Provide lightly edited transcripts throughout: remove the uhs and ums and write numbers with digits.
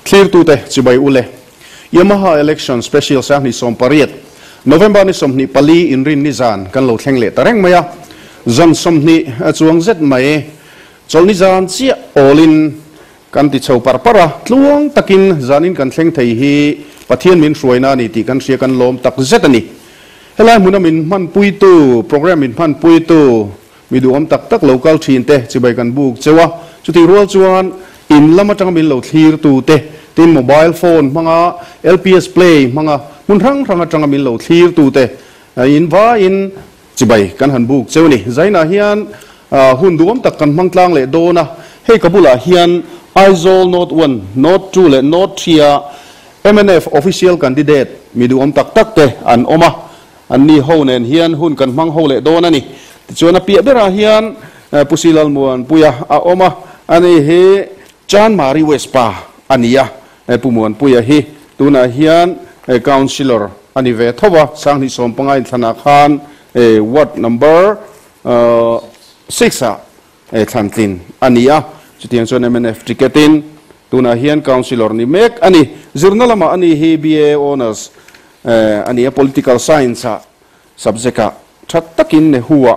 Thlirtute chibai ule. Yamaha Election Special 2018 November ni 24 inrin ni zan kan lo thleng leh ta reng mai a. Zan 20 chuang zet mai chawlhni zan chiah awlin kan ti chho par par a. Tluang takin zanin kan thleng thei hi Pathian min hruaina a ni tih kan hria kan lawm tak zet a ni. Helai hmuna min hmanpuitu, program min hmanpuitu, Mi duhawm tak tak lo kal thin te chibai kan buk cheu a, chutih rual chuan in lam atanga min lo thlir tu te, tin mobile phone hmanga LPS play hmanga hmun hrang hrang atanga min lo thlir tu te in vaiin chibai kan han buk cheu a ni. Zainah hian hun duhawm tak kan hmang tlang leh dawn a, hei ka bulah hian Aizawl North One, North Two leh North Three a mnf official candidate mi duhawm tak tak te an awm a, Anni ho nen hian hun kan hmang ho leh dawn a ni. Tichuan a piah berah hian Pu Silalmuanpuia a awm a, ani hi Chanmari West pa a ni a, Pu Muanpuia hi tunah hian Councillor a ni ve tho a, 2015 inthlanah khan Ward number six ah thlantlin a ni a, chutiang chuan mnf ticket in tunah hian Councillor ni mek a ni. Zirna lamah ani hi BA Honours A ni a, Political Science ah subject ah tha takin Nehu ah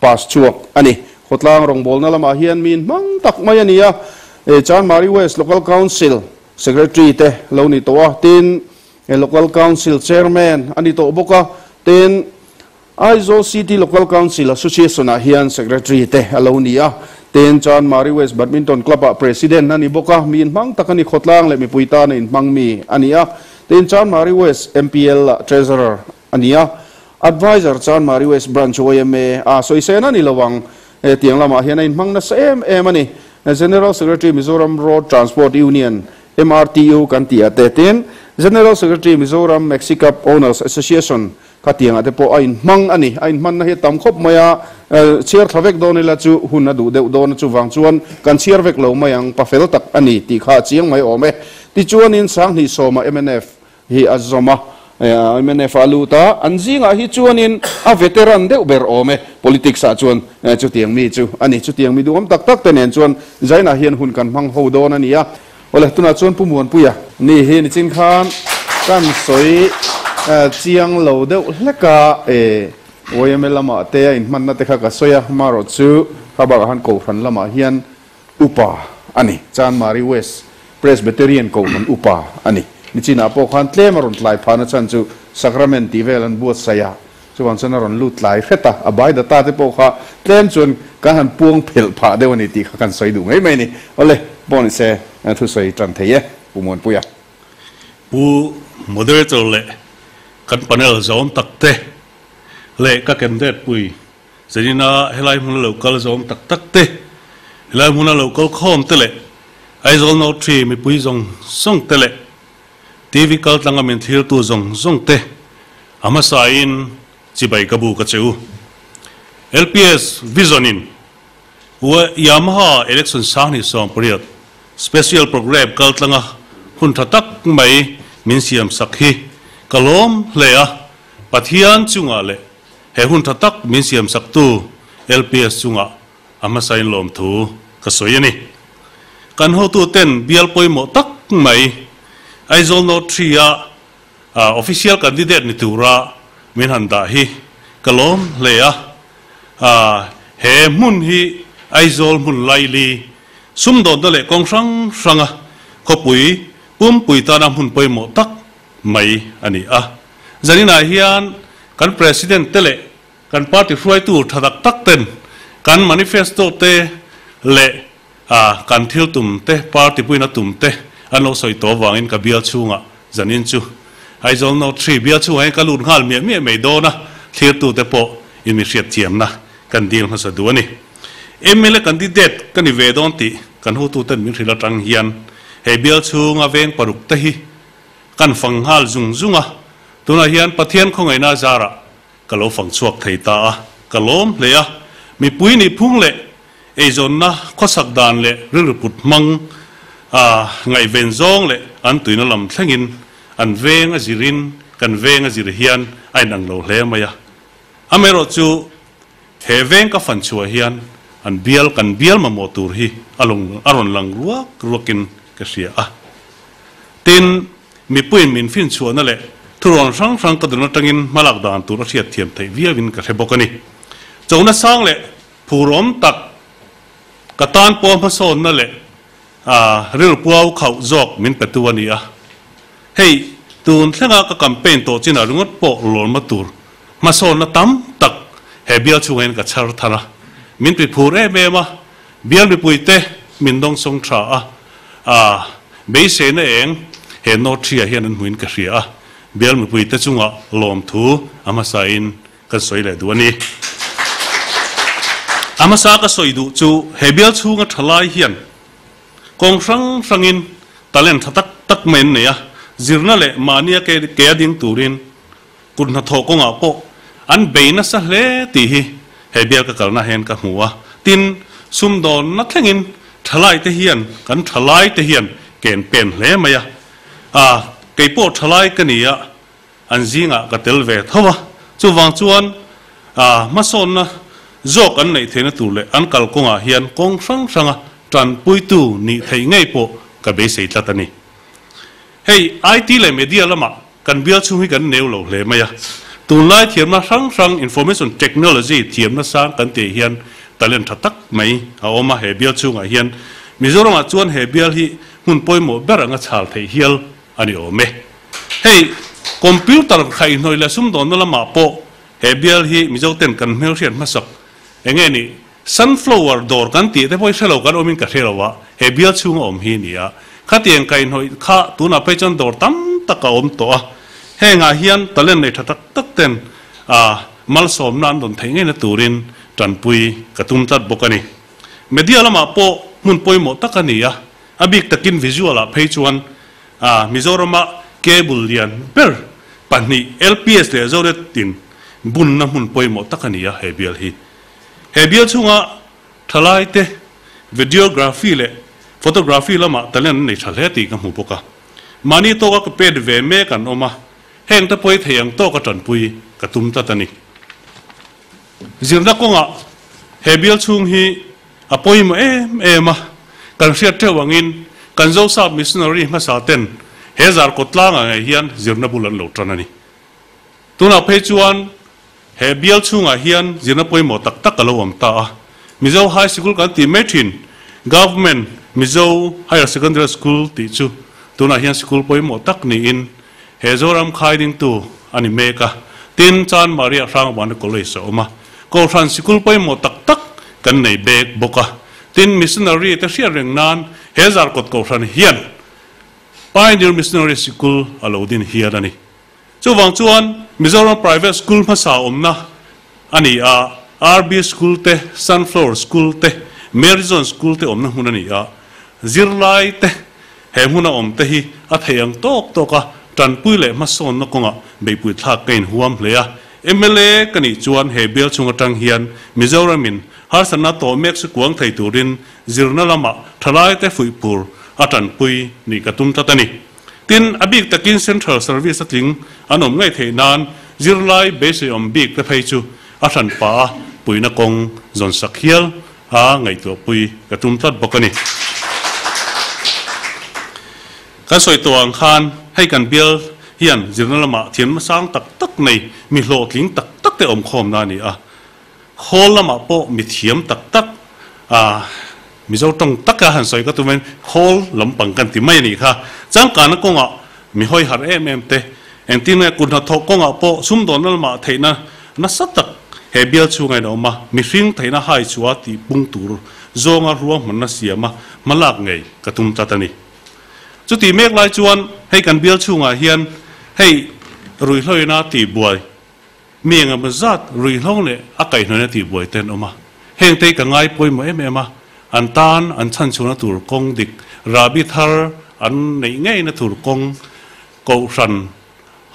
pass chhuak a ni. Khawtlang rawngbawlna lamah hian mi inhmang tak mai a ni a, Chanmari West Local Council Secretary te lo ni tawh a, tin Local Council Chairman a ni tawh bawk a, tin Aizawl City Local Council Association ah hian Secretary te a lo ni a, tin Chanmari West Badminton Club ah President a ni bawk a, mi inhmang tak a ni, khawtlang leh mipui tana inhmang mi a ni a, tin Chanmari West MPL ah Treasurer a ni a, Adviser Chanmari West Branch yma a sawisena ni lo ang, hetiang lamah hian a inhmang nasa em em a ni. General Secretary Mizoram Road Transport Union, MRTU, kan tih ah te, tin General Secretary Mizoram Maxi Cab Owners Association Khatiangah te pawh a inhmang a ni. A inhmanna hi a tam khawp mai a, chhiar thla vek dawn ila chu hun a duh deuh dawn a, chuvang chuan kan chhiar vek lo mai ang, pafel tak a ni tih kha a chiang mai awm e. Tichuanin 2010 mnf hi a zawm a, mnf a lut a, an zingah hi chuanin a veteran deuh ber awm e, politics ah chuan chutiang mi chu a ni. Chutiang mi duhawm tak tak te nen chuan Zainah hian hun kan hmang ho dawn a ni a. Awle, tunah chuan Pu Muanpuia ni hi nichin khan kan sawi chiang lo deuh hlek a, e yma lamah te a inhmanna te kha ka sawi a, marawh chu kha bakah khan Kohhran lamah hian upa a ni, Chanmari West Presbyterian Kohhran upa a ni. Nichinah pawh khan tlem a rawn tlai phahna chhan chu Sacrament tih vel an buatsaih a, Chuvang chuan a rawn lut tlai hret a, a bai data te pawh kha tlem chuan kan han puang phelh phah deuh a ni tih kha kan sawi duh mai mai a ni. Awle, pawh ni se thusawi tan thei e, Pu Muanpuia. Pu Moderator leh kan panel zawm tak te leh ka candidate pui Zenina helai hmuna lo kal zawm tak tak te, helai hmuna lo kal khawm te leh Aizawl North Tree mipui zawng zawng te leh TV kal tlanga min thlirtu zawng zawng te a hmasain chibai ka bu ka che u. LPS Vision in Yamaha Election 2018 Special Programme kal tlanga hun tha tak mai min siam sak hi ka lawm hle a, Pathian chungah leh he hun tha tak min siam saktu LPS chungah a hmasain lawmthu ka sawi a ni. Kan hotuten bial pawimawh tak mai Aizawl North Three-a official candidate ni tura min han dah hi ka lawm hle a. He hmun hi Aizawl hmun laili sumdawnna leh kawng hrang hranga khawpui pumpui tana hmun pawimawh tak mai a ni a. Zaninah hian kan President te leh Kan party hruaitu tha tak tak ten kan manifesto te leh kan thil tum te, party puina tum te an lo sawi tawh avangin ka bial chhungah zanin chu Aizawl North Three bial chhungah hian ka lut nghal miah miah mai dawn a, thlirtute pawh in mi hriatthiamna kan dil hmasa duh a ni. Mla candidate ka ni ve dawn tih kan hotuten min hrilh atang hian hei bial chhunga veng paruk te hi kan fang nghal zung zung a, tunah hian Pathian khawngaihna zarah Ka lo fang chhuak thei ta a, ka lawm hle a. Mipui nih phung leh eizawnna khawsak dan leh rilru put hmang a ngaihven zawng leh an tuina lam thlengin an veng a zirin kan veng a zir hian a inang lo hle mai a. Amaherawh chu he veng ka fan chhuah hian an bial kan bial mamawh tur hi a rawn lang ruak ruakin ka hria a. Tin, mipuiin min finchhuahna leh thurawn hrang hrang ka dun atangin hmalak dan tur a hriat thiam theih viauin ka hre bawk a ni. Chona sang leh phurawm tak ka tan pawh hmasawnna leh rilpuau khauh zawk min petu a ni a. Hei, tun thlenga ka campaign tawh chinah ringawt pawh lawlma tur hmasawnna tam tak he bial chhungah hian ka chhar thar a. Min tiphur em em a, bial mipuite min dawngsawng tha a, a beiseina eng he North Hria hian an hmuin ka hria a, bial mipuite chungah lawmthu a hmasain kan sawi leh duh a ni. A hmasa ka sawi duh chu he bial chhunga thalai hian kawng hrang hrangin talent tha tak tak mai an nei a, zirna leh mahnia ke a ding turin kut hnathawh kawngah pawh an bei nasa hle tih hi he bial ka kalna hian ka hmu a. Tin, sumdawnna thlengin thalaite hian kan thalaite hian ken pen hle mai a. A, keipawh thalai ka ni a, An zingah ka tel ve tho a, chuvang chuan hmasawnna zawk an neih theihna tur leh an kalkawngah hian kawng hrang hranga tanpuitu nih theih ngei pawh ka beisei tlat a ni. Hei IT leh media lamah kan bial chhung hi kan neu lo hle mai a, tunlai thiamna hrang hrang information technology thiamna sang kan tih hian talent tha tak mai a awm a, he bial chhungah hian Mizoramah chuan he bial hi hmun pawimawh ber anga chhal theih hial a ni awm e. Hei computer khaihhnawih leh sumdawnna lamah pawh he bial hi Mizo ten kan hmelhriat hmasak eng nge ni sunflower dawr kan tih te pawh hi hrelo kan awmin ka hre lo a, he bial chhunga awm hi a ni a. Khatiang kaihnawih kha tunah phei chuan dawr tam tak a awm tawh a, hengah hian talent nei tha tak tak ten malsawmna an rawn theih ngeina turin tanpui ka tum tlat bawk a ni. Media lamah pawh hmun pawimawh tak a ni a, a bik takin visual ah phei chuan Mizorama cable lian ber pahnih LPS leh Zonet in bunna hmun pawimawh tak a ni a he bial hi. He bial chhunga thalaite videography leh photography lamah talent an nei tha hle tih ka hmu bawk a. Mahni tawka ka pet ve mek an awm a, heng te pawi thei ang tawka tanpui ka tum tlat a ni. Zirna kawngah he bial chhung hi a pawimawh em em a, kan hriat teuh angin kan Zosap Missionary hmasa ten he zarkawt tlangah ngei hian zirna bul an lo tan a ni. Tunah phei chuan he bial chhungah hian zirna pawimawh tak tak a lo awm ta a, Mizo High Sikul kan tih mai thin, Government Mizo Higher Secondary School tih chu tunah hian sikul pawimawh tak niin He Zoram khai dingtu a ni mek a, tin Chan Maria Hrangvana College a awm a, Kohhran sikul pawimawh tak tak kan nei bek bawk a, tin Missionary te hriat reng nan he Zarkawt Kohhran hian Pioneer Missionary Sikul a lo din hial a ni. Chuvang chuan Mizoram Private School hmasa awmna a ni a, RB School te, Sunflower School te, Mary John School te awmna hmun a ni a, zirlai te He hmuna awm te hi a thei ang tawk tawk a, tanpui leh hmasawnna kawngah beihpui thlak ka inhuam hle a. Mla ka nih chuan he bial chhung atang hian Mizoramin harsatna tawh mek su kuang thei turin zirna lamah thalaite fuihpur a tanpui nih ka tum tlat a ni. Tin, a bik takin Central Service a tling an awm ngei theih nan zirlai beiseiawm bik te phei chu a hranpa a puihna kawng zawnsak hial a ngaihtuahpui ka tum tlat bawk a ni. Kan sawi tawh ang khan hei kan bial hian zirna lamah thiamna sang tak tak nei mi hlawhtling tak tak te awm khawmna a ni a. Khawl lamah pawh mi thiam tak tak a Mizo tawng taka han sawi ka tum in khawl lampang kan ti mai a nih kha. Changkana kawngah mi hawi harh em em te, engtin nge kut hnathawh kawngah pawh sumdawnna lamah theihna nasa tak he bial chhunga in a awm a, mihring theihna hai chhuah tih pung tur zawnga ruahmanna siama hmalak ngei ka tum tlat a ni. Chutih mek lai chuan hei kan bial chhungah hian hei ruihhloina tihbuai mi engemaw zat ruihhlo leh a kaihhnawina tihbuai te an awm a, hengte hi ka ngai pawimawh em em a, an tan an chhanchhuahna tur kawng dik rahbi thar an neih ngeina tur kawng kohhran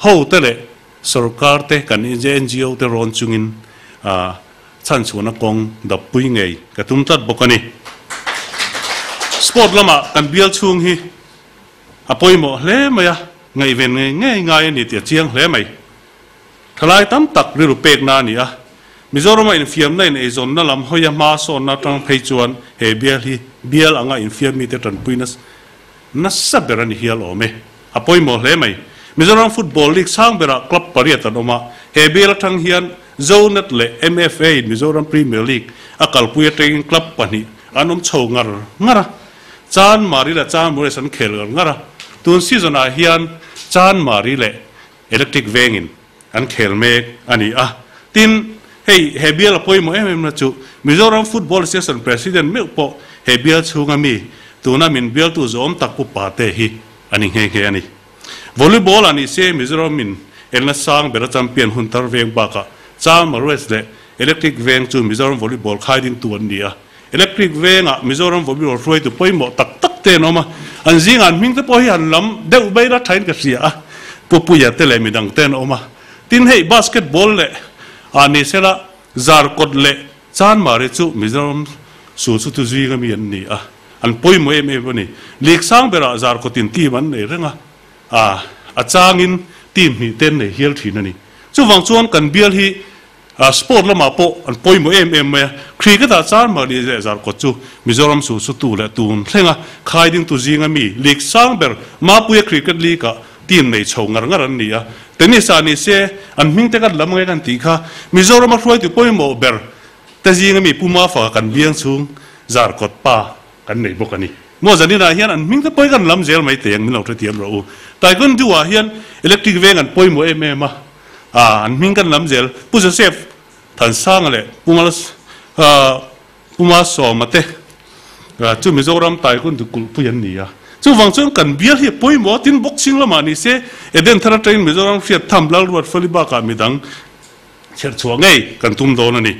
ho te leh sorkar te kan NGO te rawn chungin chhanchhuahna kawng dappui ngei ka tum tlat bawk a ni. Sport lamah kan bial chhung hi a pawimawh hle mai a, ngaihven ngei ngei ngai a ni tih a chiang hle mai. Thalai tam tak rilru pekna a ni a, Mizorama infiamna in eizawnna lam hawia hma sawnna atang phei chuan he bial hi bial anga infiam mite tanpuina nasa ber a ni hial awm e. A pawimawh hle mai. Mizoram Football League sang berah club pariat an awm a, he bial atang hian Zonet leh MFA in Mizoram Premier League a kalpui atangin club pahnih an awm chho ngar ngar a, Chanmari leh Chanmures an khel ngar ngar a, tun season ah hian Chanmari leh Electric Vengin an khel mek a ni a. Tin, hei he bial a pawimawh em em na chu Mizoram Football Association President meuh pawh he bial chhunga mi tuna min bialtu zawm tak Pu Pate hi a ni nghe nghe a ni. Volleyball ah ni se Mizoram in elna sang bera champion hun tar veng bakah Chama West leh Electric Veng chu Mizoram Volleyball khai dingtu an ni a. Electric Vengah Mizoram Volleyball hruaitu pawimawh tak tak te an awm a, an zingah an hming te pawh hi han lam deuh mai la thain ka hria a, Pu Puia te leh midang te an awm a. Tin hei basketball leh ah ni sela Zarkawt leh Chanmari chu Mizoram sul chu tu zinga mi an ni a, an pawimawh em em a ni. League sang berah Zarkawtin team an nei reng a, a a changin team hnih te an nei hial thin a ni. Chuvang chuan kan bial hi sport lamah pawh an pawimawh em em mai a, cricket ah Chanmari leh Zarkawt chu Mizoram sul chu tu leh tun thlenga khai dingtu zinga mi league sang ber Mapuia Cricket League ah team nei chho ngar ngar an ni a, tennis ah ni se an hming te kan lam nge kan tih kha Mizoram a hruaitu pawimawh ber te zinga mi Pu Mafaka kan biang chhung Zarkawt pa kan nei bawk a ni. Maw zanin ah hian an hming te pawhin kan lam zel mai teh ang min lo hrethiam rawh u. Taekwondo ah hian electric veng an pawimawh em em a, ah an hming kan lam zel Pu Joseph Thansanga leh Pu Mal Pu Malsawma te chu Mizoram Taekwondo kulhpui an ni a. Chuvang chuan kan bial hi a pawimawh a, tin boxing lamah ni se Eden thar atangin Mizoram hriat tham Lalruat Fali bakah midang chherchhuah ngei kan tum dawn a ni.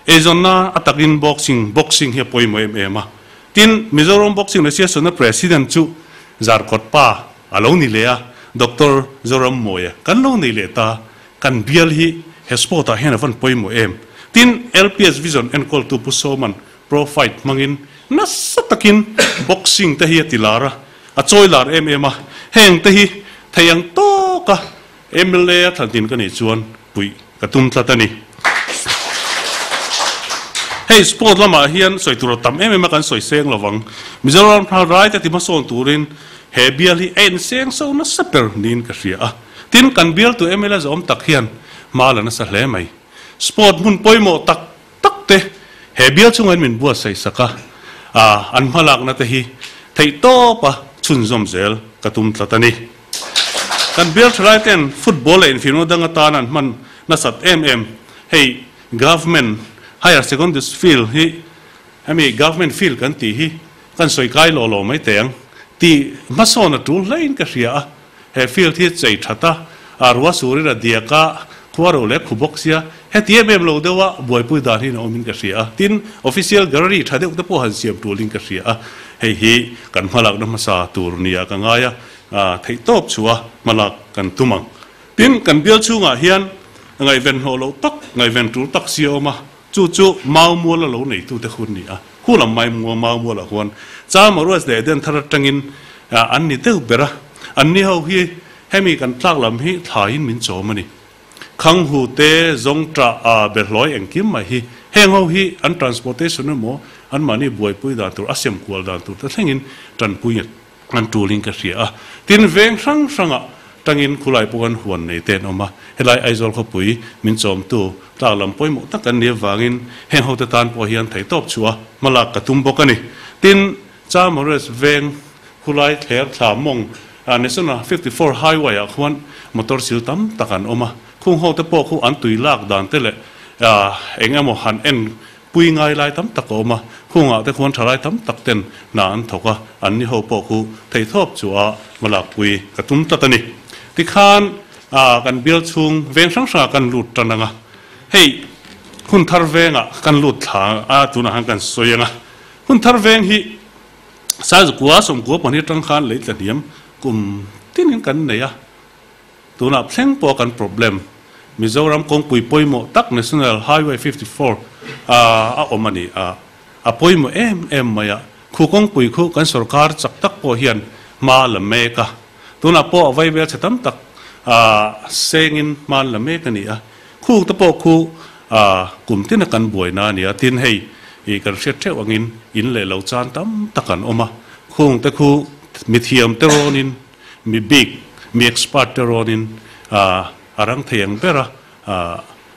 Eizawnna a takin boxing boxing hi a pawimawh em em a. Tin, Mizoram Boxing Association-a President chu Zarkawt pa a lo ni leh a, Doctor Zoram Mawia kan lo nei leh ta. Kan bial hi he sport ah hian a van pawimawh em? Tin, LPS Vision enkawltu Pu Sawman Pro Fight hmangin nasa takin boxing te hi a ti lar a, a chawi lar em em a, heng te hi thei ang tawka mla a thlantin ka nih chuan puih ka tum tlat a ni. Hei sport lamah hian sawi tur a tam em em a kan sawi seng lovang. Mizoram hna rai te ti hmasawn turin he bial hi a inseng so nasa ber niin ka hria a. Tin, kan bialtu mla zawm tak hian hma la nasa hle mai. Sport hmun pawimawh tak tak te he bial chungah min buatsaih sak a, an hmalakna te hi theihtawpa chhunzawm zel ka tum tlat a ni. Kan bial thalai ten football leh infiamna dang atan an hman nasat em em. Hei Government Higher Secondary Field hi hemi Government Field kan tih hi kan sawi kai lawh lawh mai teh ang tih hmasawn a tul hlein ka hria a. He field hi chei that a, a rua surin a diak a, khua ro leh khu bawk sia, heti em em lo deuh a buaipui dan hi a awmin ka hria a. Tin, official gallery tha deuh te pawh han siam tulin ka hria a. Hei hi kan hmalakna hmasa tur nia ka ngai a, theihtawp chhuah a hmalak kan tum ang. Tin, kan bial chhungah hian ngaihven hlawh loh tak, ngaihven tul tak si a awm a, chu chu Mau mual a lo neitute hun ni a. Khu lam mai Mau mualah huan Chama Ruas leh Eden thar atangin an ni deuh ber a, an ni ho hi hemi kan tlak lam hi thlaiin min chawm a ni. Khanghu te, Zawngṭah, a behlawi engkim mai hi heng ho hi an transportation emaw anmahni buaipui dan tur, a sem kual dan tur te thlengin tanpui an tulin ka hria a. Tin, veng hrang hrangah tangin khulai pawh kan huan nei te an awm a, helai Aizawl khawpui min chawmtu tlak lam pawimawh tak an nih avangin heng hote tan pawh hian theihtawp chhuah a hmalak ka tum bawk a ni. Tin, Chamores veng khulai thler thla mawng National 54 Highway ah khuan motor sil tam tak an awm a, khung hote pawh khu an tui lak dan te leh eng emaw han en pui ngai lai tam tak a awm a, khungah te khuan thalai tam tak ten hna an thawk a, an ni ho pawh khu theihtawp chu a hmalakpui ka tum tlat a ni. Tikhan kan bial chhung veng hrang hrangah kan lut tan ang a, hei hun thar vengah kan lut thla a tunah khan kan sawi ang a, hun thar veng hi Saizukua sawmkua pahnih atang khan lei tla hniam kum tinin kan nei a, Tunah thleng pawh kan problem Mizoram kawngpui pawimawh tak National Highway 54 a awm a ni a, a pawimawh em em mai a, khu kawngpui khu kan sorkar chak tak pawh hian hma a la mek a, tunah pawh a vaivel chhe tam tak sengin hma an la mek a ni a, khu te pawh khu kum tina kan buaina a ni a, tin hei kan hriat theuh angin in leh lo chan tam tak an awm a, khung te khu mithiam te rawnin. Mi bik, mi expert te rawnin a rang thei ang bera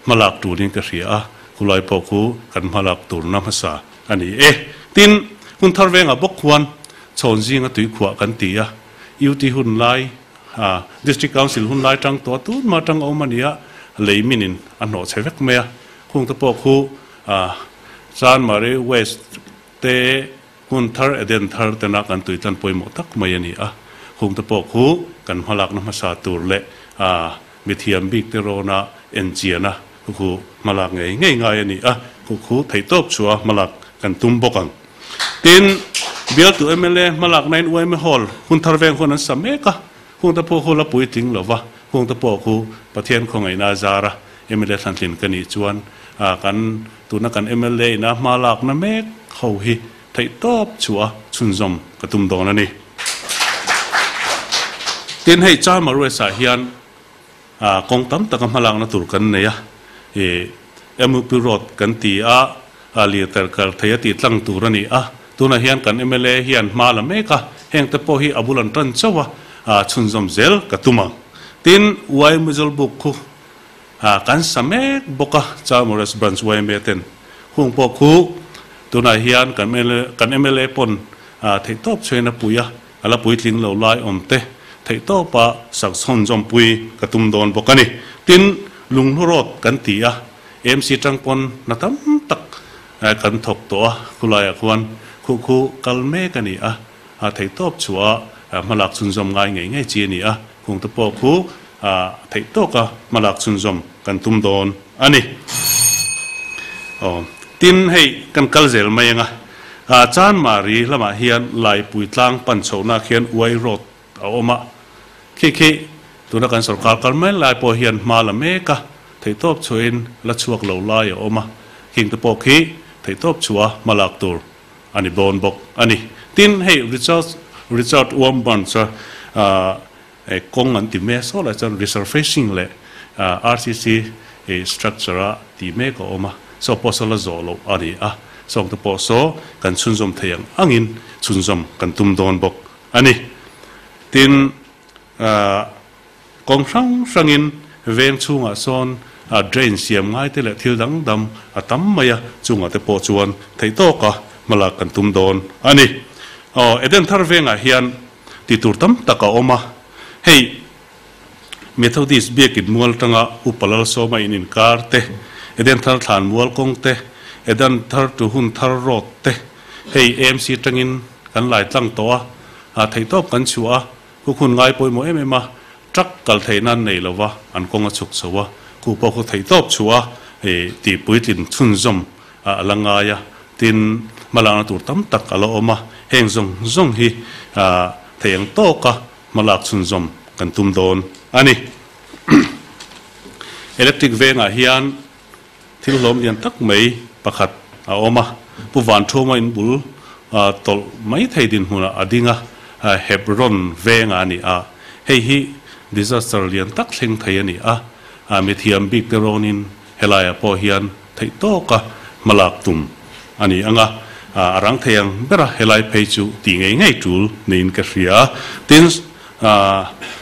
hmalak turin ka hria a, khulai pawh khu kan hmalak turna hmasa a ni e. Tin, hun thar vengah bawk khuan chhawn zinga tuikhuah kan ti a, UT hun lai, District Council hun lai tang tawh a tun mah tang a awm a ni a, lei minin a hnawh chhe vek mai a, khung te pawh khu Chanmari West te Hmun thar Eden thar tena kan tuitlan pawimawh tak mai a ni a, hungte pawh khu kan hmalakna hmasa tur leh mithiam bik te rawna enchiana khu khu hmalak ngei ngei ngai a ni a, khu khu theihtawp chhuah hmalak kan tum bawk ang. Tin, bialtu mla hmalakna in yma Hall hun thar veng hun an sa mek a, hungte pawh khu la puitling lo va, hungte pawh khu Pathian khawngaihna a zar a, mla thlantlin ka nih chuan kan Tuna kan mla ina hma lakna mek ho hi theihtawp chhuah a chhunzawm ka tum dawn a ni. Tin, hei Charma Rues ah hian kawng tam taka hma lakna tur kan nei a, ih MUP Road kan ti a, lirter kal thei a tih tlang tur a ni a, tunah hian kan mla hian hma la mek a, heng te pawh hi a bul an tan chauh a, chhunzawm zel ka tum ang. Tin, Y Muzalbuk khu Kan sa mek bawk a, Chalmores Branch yma ten hung pawh khu tunah hian kan kan mla pawn theihtawp chhuain a pui a, a la puitling lo lai awm te theihtawpa sak chhawnzawm pui ka tum dawn bawk a ni. Tin, Lunghlu Road kan ti a, AMC tang pawn hna tam tak kan thawk tawh a, khulaiah khuan khuh khu kal mek a ni a, theihtawp chhuah hmalak chhunzawm ngai ngei ngei chi a ni a, khungte pawh khu A theih tawka hmalak chhunzawm kan tum dawn a ni. Aw, tin hei kan kal zel mai ang a, a Chanmari lamah hian Laipui tlang pan chhohna khian Uai Road a awm a, khi khi tuna kan sorkar kal mai lai pawh hian hma la mek a, theihtawp chhuahin la chhuak lo lai a awm a, khing te pawh khi theihtawp chhuah hmalak tur a ni dawn bawk a ni. Tin hei Richard Richard Wamburn chu Kawng an ti mek saw lai chuan resurfacing leh RCC structure a tih mek a awm a, saw pawh saw la zawh loh a ni a, sawngte pawh saw kan chhunzawm thei ang angin chhunzawm kan tum dawn bawk a ni. Tin, kawng hrang hrangin veng chhungah sawn drain siam ngai te leh thil dang dam a tam mai a, chungah te pawh chuan theih tawka hmalak kan tum dawn a ni. Aw, Eden thar vengah hian Tih tur tam tak a awm a, hei Methodist biakin mual tanga Upa Lalsawma in inkar te, Eden Thar Thlan mual kawng te, Eden Thar to Hun Thar Road te, hei AMC tangin kan lai tlang tawh a, a theihtawp kan chhuah a, khu khun ngai pawimawh em em a, truck kal theih nan nei lova an kawng a chhuk chho a, khu pawh khu theihtawp chhuah a, hei tih puitlin chhunzawm a la ngai a, tin hmalakna tur tam tak a la awm a, heng zawng zawng hi thei ang tawka hmalak chhunzawm kan tum dawn a ni. Electric vengah hian thil hlawm lian tak mai pakhat a awm a, Pu Vanthuma in bul tawlh mai thei dinhmunah a ding a, Hebron vengah a ni a, hei hi disaster lian tak thleng thei a ni a, mithiam bik te rawnin Helaiah pawh hian theih tawka hmalak tum a ni ang a, a rang thei ang bera helai phei chu tih ngei ngei tul niin ka hria. Tin,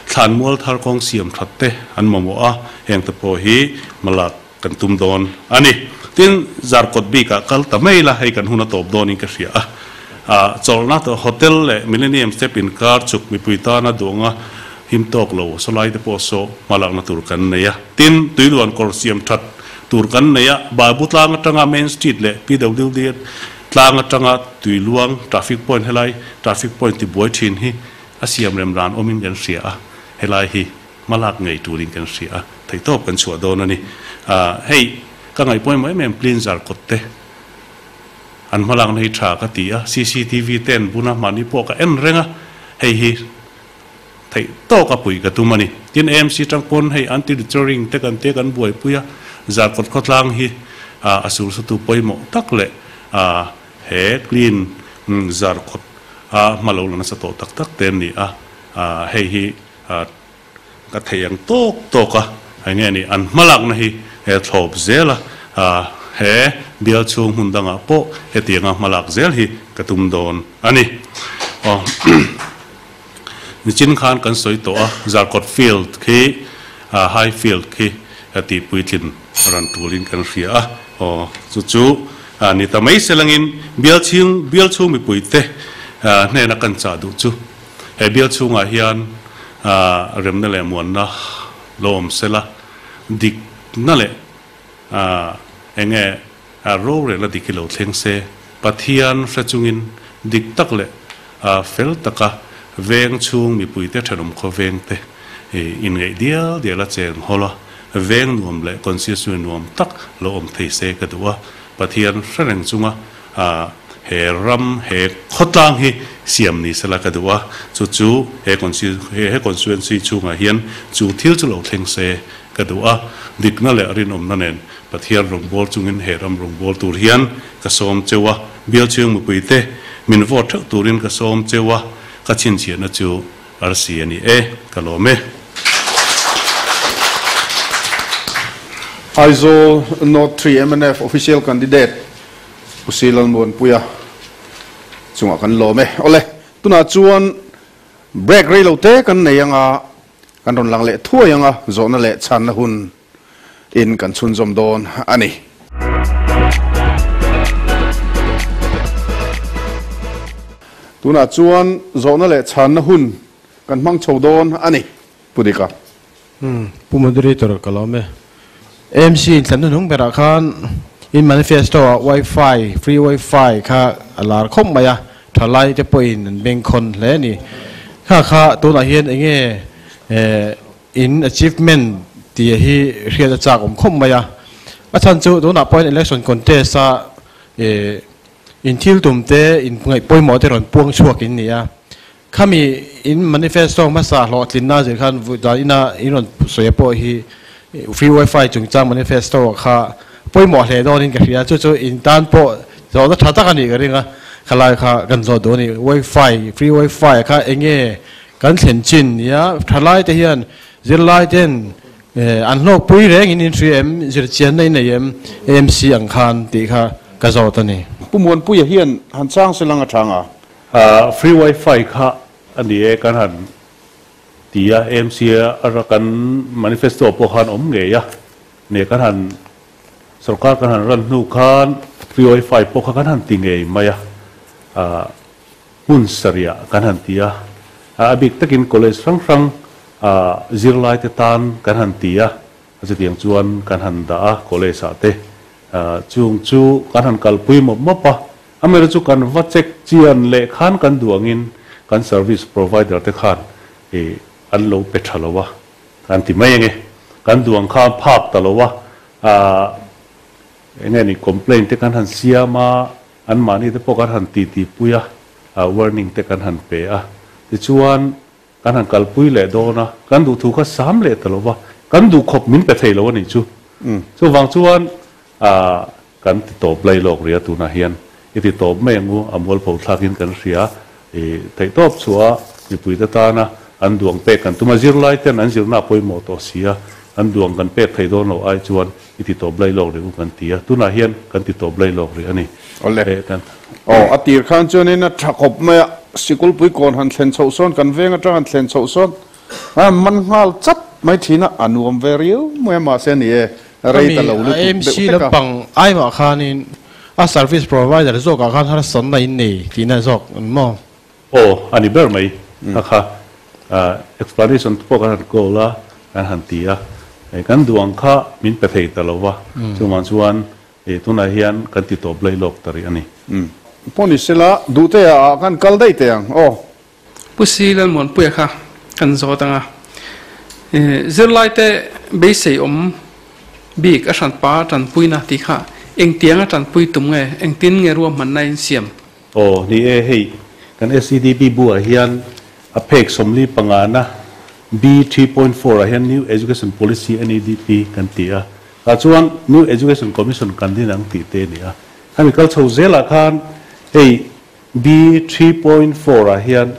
thlanmual thar kawng siam that te an mamawh a, heng te pawh hi hmalak kan tum dawn a ni. Tin, Zarkawt bikah kal ta mai la, hei kan hun a tawp dawnin ka hria a. Chawlhna hotel leh Millennium Step inkar chuk mipui tana duhanga him tawk lo sawlai te pawh saw hmalakna tur kan nei a. Tin, tuiluan kawr siam that tur kan nei a, Babu tlang atanga Main Street leh PWD tlang atanga tuiluang traffic point helai traffic point tibuai thin hi a siam rem ran awmin kan hria a, helai hi hmalak ngei turin kan hria a, theihtawp kan chhuah dawn a ni. Hei ka ngaih pawimawh em em cleanser kawt te an hmalakna hi tha ka ti a, cctv te an bun a, mahni pawh ka en reng a, hei hi Theih tawk a puih ka tum a ni. Tin, AMC tang pawn hei anti-littering te kan tia kan buaipui a, Zarkawt khawtlang hi a sulsutu pawimawh tak leh he clean Zarkawt a hma lo la nasa tawh tak tak te an ni a, hei hi ka theih ang tawk tawk a eng nge ni an hmalakna hi he thlawp zel a, he bial chhung hmun dangah pawh hetianga hmalak zel hi ka tum dawn a ni. Nichin khan kan sawi tawh a, Zarkawt field khi high field khi tih puitlin ran tulin kan hria a, aw chu chu ni ta mai selangin bial chhing bial chhung mipuite hnena kan chah duh chu he bial chhungah hian remna leh muanna lo awm sela, dikna leh enge rorelna dik hi lo thleng se, Pathian hre chungin dik tak leh fel taka veng chhung mipuite thenawm khaw vengte inngeih dial dial a cheng hawl a, veng nuam leh constituency nuam tak lo awm thei se ka duh a, Pathian hre reng chunga he ram he khawtlang hi siam ni sela ka duh a, chu chu he constituency chhungah hian chu thil chu lo thleng se ka duh a, dikna leh rinawmna nen Pathian rawngbâwl chungin he ram rawngbâwl tur hian ka sâwm cheu a, Bialchhiang mipuite min vote theuh turin ka sâwm cheu a, ka chhinchhiahna chu arsi a ni e, ka lâwm e. Aizawl North 3 mnf Official Candidate Pu Si Lalmuanpuia chungah kan lâwm e. Awle, tunah chuan break rei lo te kan nei anga kan rawn lang leh thuai anga zawhna leh chhanna hun in kan chhunzawm dawn a ni. Tunah chuan zawhna leh chhanna hun kan hmang chho dawn a ni, Pu Dika. Pu Moderator ka lawm e. AMC inthlan hnuhnung berah khan in manifesto ah wifi, free wifi kha a lar khawp mai a, thalai te pawhin an bengkhawn hle a ni. Kha kha tunah hian enge In achievement tih hi hriat a chak awm khawp mai a, a chhan chu tunah pawhin election contest a ih in thil tum te in ngaih pawimawh te rawn puang chhuak in ni a, khami in manifesto hmasa hlawhtlinna zir khan dan ina in rawn sawi a pawh hi free wifi chungchang manifesto kha pawimawh hle dawnin ka hria, chu chu in tan pawh zawhna tha tak a nih ka ring a, khalai kha kan zawh duh a ni, wifi free wifi kha eng nge Kan thlen chin nia thalai te hian zirlai ten an hlawkpui reng in in hria em, zirchianna in nei em, AMC ang khan tih kha ka zawt a ni. Pu Muanpuia hian han chang se lang a tha nga. Free wifi kha a ni e kan han ti a, AMC a kan manifesto pawh khan awm ngei a, ne kan han sorkar kan han ran hnu khan free wifi pawh kha kan han ti ngei mai a. Hmun sarih kan han ti a, a bik takin college hrang hrang zirlaite tan kan han ti a, chutiang chuan kan han dah a college ah te chung chu kan han kalpui mawp mawp a, amaherawhchu chu kan va check chian leh khan kan duh angin kan service provider te khan an lo pe tha lo a, kan ti mai ange, kan duh ang khan phak ta lo a, enge ni complaint te kan han siam a. Anmahni te pawh kan han titi pui a, warning te kan han pe a, tichuan kan han kalpui leh dawn a, kan duhthu kha sam leh ta lo va, kan duh khawp min pe thei lo a nih chu. Chuvang chuan kan ti tawp lai lawk rih a, tunah hian i ti tawp mai ang u, a mualpho thlakin kan hria, i theihtawp chhuah a mipuite tana an duang pek kan tum a, zirlai ten an zirna a pawimawh tawh si a, an duang kan pek thei dawn lo ai chuan i ti tawp lai lawk rih u kan ti a, tunah hian kan ti tawp lai lawk rih a ni. Awle. Aw, a tir khan chuanin a tha khawp mai a, sikulpui kawn han thlen chhoh sawn, kan veng atang han thlen chhoh sawn, a man nghal chat mai thin a, a nuam ve riau mai a, mahse a ni e, rei ta lo lutuk deuh AMC hlek a. lampang aimah khanin a service provider zawkah khan harsatna in nei tihna zawk an maw? Aw, a ni ber mai. Kha kha explanation te pawh kan han call a, kan han ti a, kan duh ang kha min pe thei ta lo va, chuvang chuan tunah hian kan ti tawp lai lawk ta rih a ni. Pawh ni sela, Duhtea ah khan kal daih teh ang aw. Pu Si Lalmuanpuia kha kan zawt ang a, zirlaite beisei awm bik a hranpa tanpuina tih kha engtianga tanpui tum nge, engtin nge ruahmanna in siam? Aw, ni e, hei kan SEDP bu ah hian a phek 45 na B 3.4 ah hian New Education Policy, NEDP, kan ti a, tah chuan New Education Commission kan din ang tih te a ni a. Khami kal chho zelah khan hei B 3.4 ah hian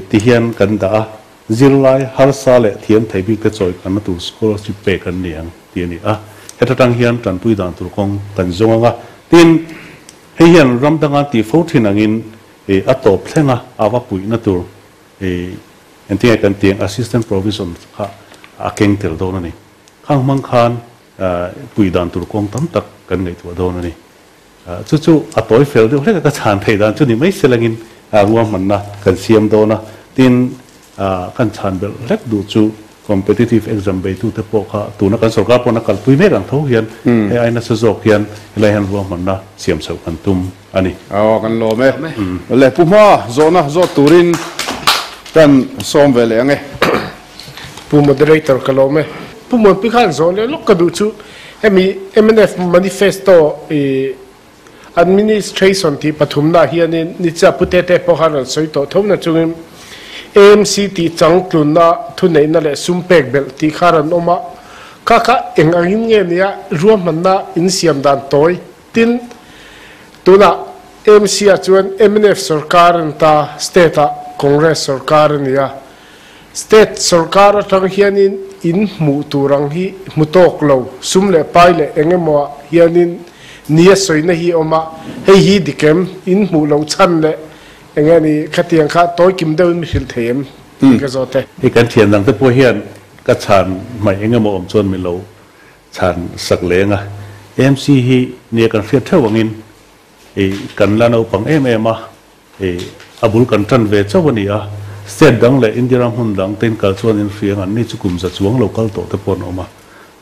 ti hian kan dah a, zirlai harsa leh thiam thei bik te chawi kanna tur scholarship pek an ni ang tih a ni a. Heta tang hian tanpui dan tur kawng kan zawng ang a, tin hei hian ram danga tih fo thin angin a tawp thleng a, a va puihna tur Engtinge kan tih ang assistant provision kha a keng tel dawn a ni. Khang hmang khan pui dan tur kawng tam tak kan ngaihtuah dawn a ni. Chu chu a tawi fel deuh hlek a ka chhan theih dan chu ni mai selangin ruahmanna kan siam dawn a. Tin, kan chhan belh hlek duh chu competitive exam beitute pawh kha tuna kan sorkar pawn a kalpui mek ang tho hian hei ai nasa zawk hian helai hian ruahmanna siam chhoh kan tum a ni. Aw kan lawm e. Le Pu Hma zawhna zawt turin kan sawm ve leh ang e. Pu Moderator ka lawm e. Pu Muanpui khan zawh leh lawk ka duh chu hemi mnf manifesto i Administration tih pathumna hianin nichia Pu Tete pawh khan rawn sawi tawh tho na chungin AMC tih changtlunna thuneihna leh sum pek belh tih kha rawn awm a, kha kha eng angin nge nia ruahmanna insiam dan tawi tin tunah AMC ah chuan mnf sorkar a ni ta, state ah Congress sorkar a ni a, state sorkar atang hianin in hmuh tur ang hi hmu tawk lo, sum leh pai leh eng emaw ah hianin nia sawina hi a awm a, hei hi dik em, in hmuh loh chhan leh eng nge ni khatiang kha tawi kim deuhin mi hrilh thei em tih ka zawt e. Hei kan thian dang te pawh hian ka chhan hmaih eng emaw awm chuan mi lo chhan sak leng a, AMC hi nia kan hriat theuh angin i kan la naupang em em a, i a bul kan tan ve chauh a ni a, state dang leh India ram hmun dang te in kal chuan in hria ang an ni chu kum za chuang lo kal tawh te pawh an awm a,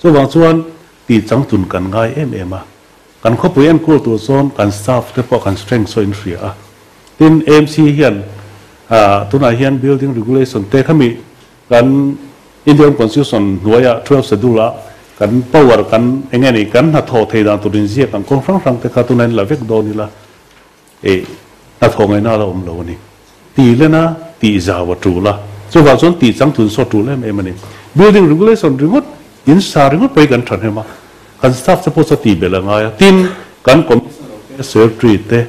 chuvang chuan tih changtun kan ngai em em a, kan khawpui enkawl tur chuan kan staff te pawh kan strength saw in hria a, tin AMC hian tunah hian building regulation te khami Kan Indian Constitution hnuaia 12 Schedule a kan power kan eng nge ni kan hnathawh thei dan tur inziak ang kawng hrang hrang te kha tunah in la vek dawn ila eh hnathawh ngaihna a la awm lo a ni. Tih lena tih zau a tul a, chuvang chuan tih changtlun saw tul em em a ni. Building regulation ringawt in sa ringawt pawh hi kan thahnem a, kan staff te pawh chu a tih belh a ngai a, tin kan commissioner te secretary te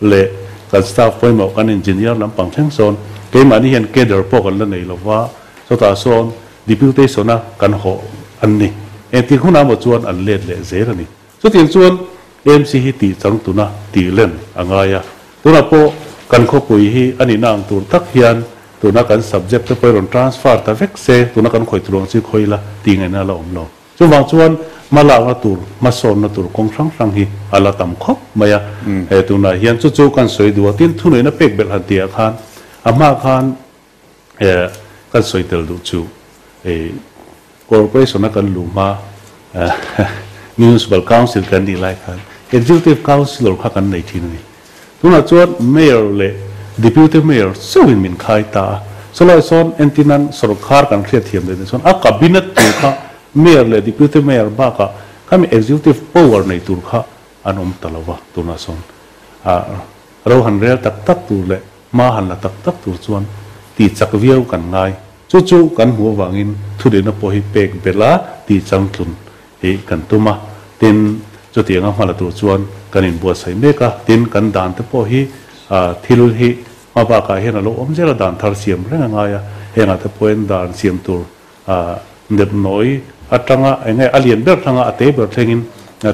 leh kan staff pawimawh kan engineer lampang thleng sawn keimahni hian cadre pawh kan la nei lova, chutah sawn deputation a kan hawh an ni. Engtik hunah maw chuan an let leh zel a ni. Chutiang chuan AMC hi tih changtuna tih len a ngai a, tunah pawh kan khawpui hi a nihna ang tur tak hian tuna kan subject te pawh i rawn transfer ta vek se, tuna kan khawih tur ang chi khawi ila tih ngaihna a la awm lo. Chuvang chuan hmalakna tur, hmasawnna tur kawng hrang hrang hi a la tam khawp mai a. He tunah hian chu chu kan sawi duh a, tin thuneihna pek belh han tihah khan a hma khan kan sawi tel duh chu Corporation a kan luh hma Municipal Council kan nih lai khan Executive Councillor kha kan nei thin a ni. Tunah chuan Mayor leh Deputy Mayor chauhin min khai ta a, chulai sawn entinan sorkar kan hriatthiam leh chuan a cabinet tur kha Mayor leh Deputy Mayor bakah khami executive power nei tur kha an awm ta lo va, tunah sawn ro han rel tak tak tur leh hma han la tak tak tur chuan tih chak viau kan ngai. Chu chu kan hmuh avangin thudehna pawh hi pek belh a tih changtlun hi kan tum a, tin, chutianga hma la tur chuan kan inbuatsaih mek a, tin, kan dan te pawh hi thil hi hma bakah hian a lo awm zel a, dan thar siam reng a ngai a, hengah te pawhin dan siam tur nep nawi atanga eng nge a lian ber thlanga a te ber thlengin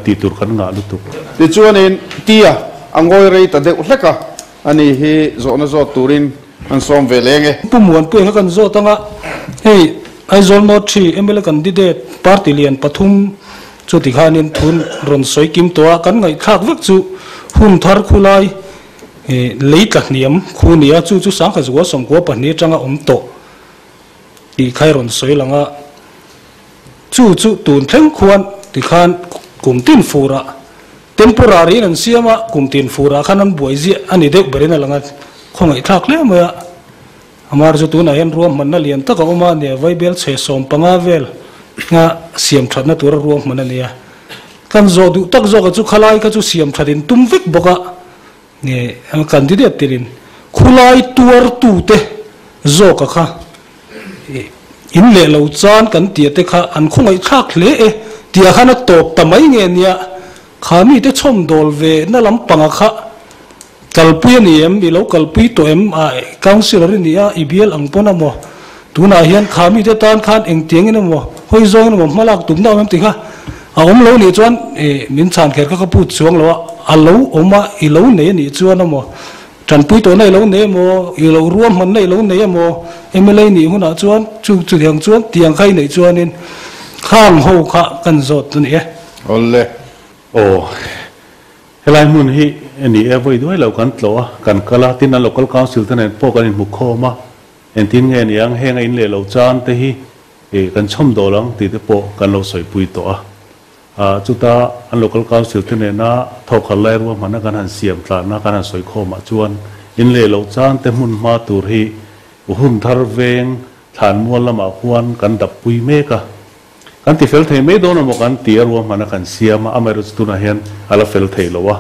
tih tur kan ngah lutuk. Tichuanin Tia a ngawi rei ta deuh hlek a, ani hi zawhna zawt turin An sawm ve leng e. Pu Muanpuia kha kan zawt anga, hei Aizawl North 3 mla candidate party lian pathum chu tikhanin thun rawn sawi kim tawh a, kan ngaihthlak vek chu hun thar khulai lei tla hniam khu nia, chu chu sangkha zua 92 atanga awm tawh tih kha i rawn sawi lang a, chu chu tun thleng khuan tikhan kum tin furah Temporary in an siam a, kum tin furah khan an buai ziah a ni deuh berin a lang a, khawngaihthlak hle mai a. Amar chu tunah hian ruahmanna lian tak a awm a, nia vaibel chhe 15 vel nga siam thatna tura ruahman a ni a. Kan zawh duh tak zawk a chu khalai kha chu siam that in tum vek bawk a, nge candidate tirin khulai tuar tute zawk a kha In leh lo chan kan tia te kha an khawngaihthlak hle e tia khan a tawp ta mai nge nia, kha mite chhawm dawl ve na lampanga kha kalpui a ni em, i lo kalpui tawh em, a councillor i ni a, i bial ang pawn a maw, tunah hian kha mite tan khan engtiangin emaw hawi zawngin emaw hmalak tumna awm em tih kha a awm lo nih chuan min chhan kher kha ka put chuang lo a, a lo awm a, i lo nei a nih chuan emaw. Tanpui tawh na i lo nei emaw, i lo ruahman na i lo nei emaw, mla nih hunah chuan chu chutiang chuan tiang kha i neih chuanin khang ho kha kan zawt a ni e. Awle. Aw, helai hmun hi ni e, vawi duai lo kan tlawh a, kan kal a, tin an local council te nen pawh kan inhmu khawm a, engtin nge niang heng a in leh lo chan te hi kan chhawm dawl ang tih te pawh kan lo sawipui tawh a. Chuta an Local Council te nena thawkhat lai ruahmanna kan han siam tlanna kan han sawi khawmah chuan in leh loh chan te hmun hma tur hi hun thar veng thlanmual lamah khuan kan dap pui mek a. Kan ti fel thei mai dawn emaw kan ti a ruahmanna kan siam a, amaherawhchu chu tunah hian a la fel thei lo a.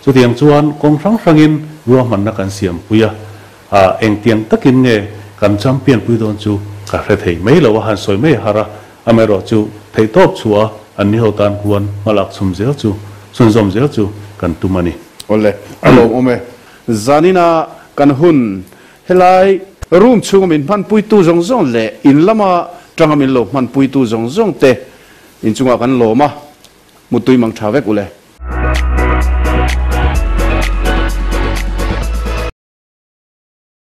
Chutiang chuan kawng hrang hrangin ruahmanna kan siam pui a, engtiang takin nge kan champion pui dawn chu ka hre thei mai lo a, han sawi mai a har a. Amaherawhchu, theihtawp chhuah a an ni ho tan huan hmalak chhum zel chu, chhunzawm zel chu kan tum a ni. Awle, a lawmawm e. Zanina kan hun helai room chhunga min hmanpuitu zawng zawng leh in lama tanga min lo hmanpuitu zawng zawng te inchungah kan lawm a, muttui mang tha vek ule.